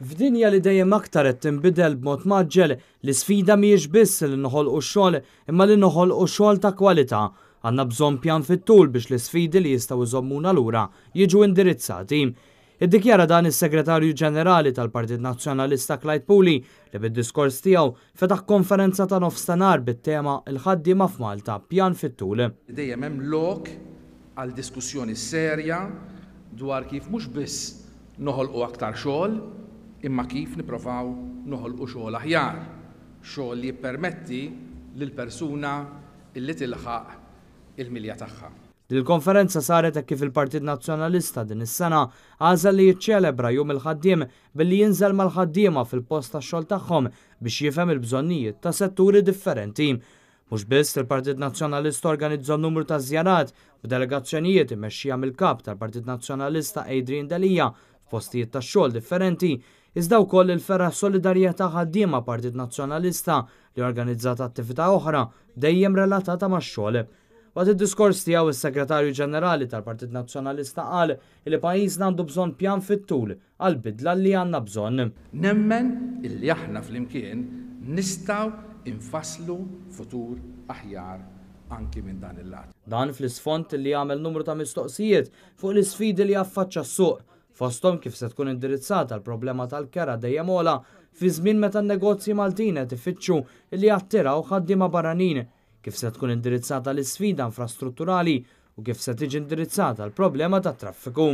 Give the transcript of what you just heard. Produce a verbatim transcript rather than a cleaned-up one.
F'dinja li dejjem aktar qed tinbidel b'mod mgħaġġel, l-isfida mhijiex biss li noħolqu xogħol imma li noħolqu xogħol ta' kwalità. Għandna bżonn pjan fit-tul biex l-isfidi li jistgħu jżommuna lura jiġu indirizzati. Iddikjara dan is-Segretarju Ġenerali tal-Partit Nazzjonalista Clyde Puli li bid-diskors tiegħu fetaħ konferenza ta' nofstanhar bit-tema "Il-ħaddiema f'Malta, pjan fit-tul". Dejjem hemm lok għal diskussjoni serja dwar kif mhux biss noħolqu aktar xogħol, imma kif nipprovaw noħolqu xogħol aħjar, xogħol li jippermetti lil persuna illi tilħaq il-milja tagħha. Dil-konferenza saret hekk kif il-Partit Nazzjonalista din is-sena għażel li jiċċelebra Jum il-Ħaddiem billi jinżel mal-ħaddiema fil-post tax-xogħol tagħhom biex jifhem il-bżonnijiet ta' setturi differenti. Mhux biss il-Partit Nazzjonalista organizza numru ta' żjarat b'delegazzjonijiet immexxija mill-kap tal-Partit Nazzjonalista Adrian Delia f'postijiet tax-xogħol differenti, iżda wkoll il-fergħa Solidarjetà Ħaddiema Partit Nazzjonalista li organizzat attività oħra dejjem relatata max-xogħol. Waqt id-diskors tiegħu, is-Segretarju Ġenerali tal-Partit Nazzjonalista qal li pajjiżna għandu bżonn pjan fit-tul għal bidla li għandna bżonn. Nemmen illi aħna flimkien nistgħu infasslu futur aħjar anki minn dan il-lat. Dan fl-isfond li għamel numru ta' mistoqsijiet fuq l-isfidi li affaċċa s-suq, fosthom kif se tkun indirizzata l-problema tal-kera dejjem ogħla fi żmien meta n-negozji Maltin qed ifittxu li jattiraw ħaddiema barranin, kif se tkun indirizzata l-isfida infrastrutturali u kif se tiġi indirizzata l-problema tat-traffiku.